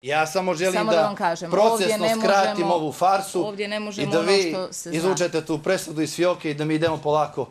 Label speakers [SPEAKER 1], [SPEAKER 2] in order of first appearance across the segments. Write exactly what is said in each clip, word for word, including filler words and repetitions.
[SPEAKER 1] Ja samo želim
[SPEAKER 2] Samo
[SPEAKER 1] da,
[SPEAKER 2] da vam kažem,
[SPEAKER 1] procesno
[SPEAKER 2] ovdje ne
[SPEAKER 1] skratim
[SPEAKER 2] možemo-
[SPEAKER 1] ovu farsu
[SPEAKER 2] ovdje ne možemo
[SPEAKER 1] i da
[SPEAKER 2] ono
[SPEAKER 1] vi
[SPEAKER 2] što se zna.
[SPEAKER 1] izvučete tu presudu iz fioke i da mi idemo polako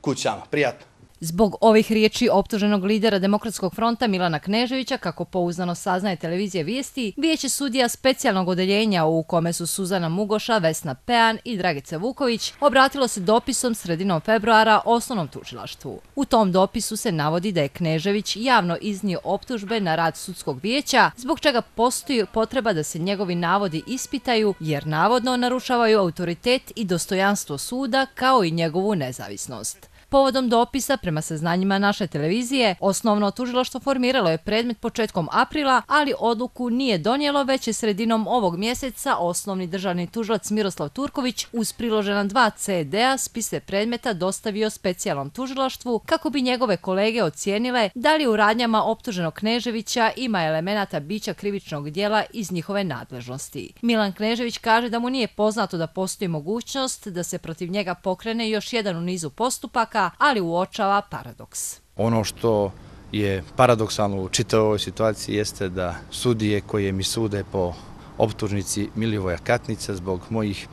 [SPEAKER 1] kućama. Prijatno.
[SPEAKER 3] Zbog ovih riječi optuženog lidera Demokratskog fronta Milana Kneževića, kako pouzdano saznaje televizija Vijesti, Vijeće sudija specijalnog odeljenja u kome su Suzana Mugoša, Vesna Pean i Dragica Vuković obratilo se dopisom sredinom februara osnovnom tužilaštvu. U tom dopisu se navodi da je Knežević javno iznio optužbe na rad sudskog vijeća, zbog čega postoji potreba da se njegovi navodi ispitaju jer navodno narušavaju autoritet i dostojanstvo suda kao i njegovu nezavisnost. Povodom dopisa, prema saznanjima naše televizije, osnovno tužilaštvo formiralo je predmet početkom aprila, ali odluku nije donijelo, već je sredinom ovog mjeseca osnovni državni tužilac Miroslav Turković uz priložena dva ce de-a spise predmeta dostavio specijalnom tužilaštvu kako bi njegove kolege ocijenile da li u radnjama optuženog Kneževića ima elemenata bića krivičnog djela iz njihove nadležnosti. Milan Knežević kaže da mu nije poznato da postoji mogućnost da se protiv njega pokrene još jedan u nizu postupaka, ali uočava paradoks.
[SPEAKER 4] Ono što je paradoksalno u čitavoj ovoj situaciji jeste da sudije koje mi sude po optužnici Milivoja Katnića zbog mojih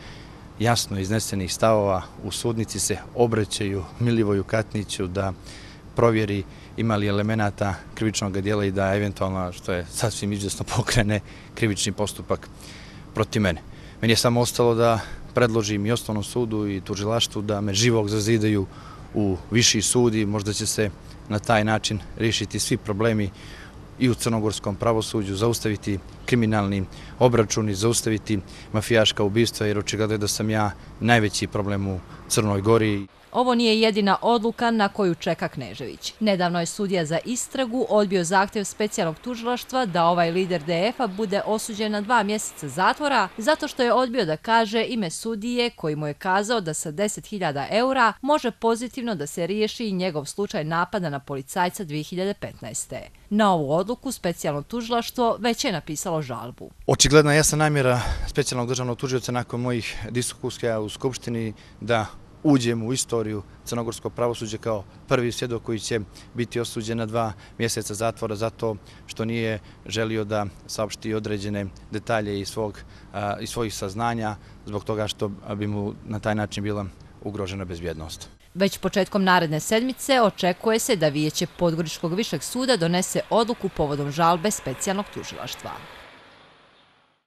[SPEAKER 4] jasno iznesenih stavova u sudnici se obraćaju Milivoju Katniću da provjeri ima li elemenata krivičnog djela i da eventualno, što je sasvim izvjesno, pokrene krivični postupak protiv mene. Meni je samo ostalo da predložim i osnovnom sudu i tužilaštvu da me živog zazidaju u viši sud i možda će se na taj način riješiti svi problemi i u crnogorskom pravosuđu, zaustaviti kriminalni obračuni, zaustaviti mafijaška ubistva, jer očigledno je da sam ja najveći problem u Crnoj Gori.
[SPEAKER 3] Ovo nije jedina odluka na koju čeka Knežević. Nedavno je sudija za istragu odbio zahtjev specijalnog tužilaštva da ovaj lider de efa bude osuđen na dva mjeseca zatvora zato što je odbio da kaže ime sudije koji mu je kazao da sa deset hiljada eura može pozitivno da se riješi i njegov slučaj napada na policajca dvije hiljade petnaeste. Na ovu odluku specijalno tužilaštvo već je napisalo žalbu.
[SPEAKER 4] Očigledna jasna namjera specijalnog državnog tužioca nakon mojih diskusija u Skupštini da uđem u istoriju crnogorskog pravosuđa kao prvi svjedok koji će biti osuđen na dva mjeseca zatvora zato što nije želio da saopšti određene detalje iz, svog, iz svojih saznanja zbog toga što bi mu na taj način bila ugrožena bezbjednost.
[SPEAKER 3] Već početkom naredne sedmice očekuje se da Vijeće Podgoričkog višeg suda donese odluku povodom žalbe specijalnog tužilaštva.